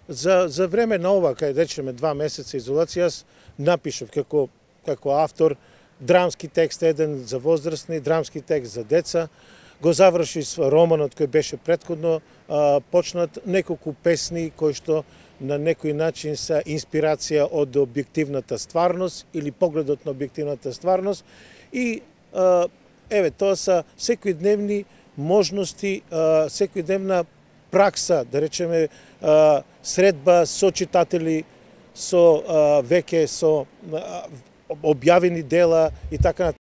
За време на ова, кај речеме 2 месеца изолација, јас напишав како автор драмски текст еден за возрастни, драмски текст за деца, го заврши романот кој беше претходно почнат, неколку песни кои што на некој начин са инспирација од објективната стварност или погледот на објективната стварност и еве тоа са секојдневни можности, секојдневна пракса, да речеме средба со читатели, со веќе со објавени дела и така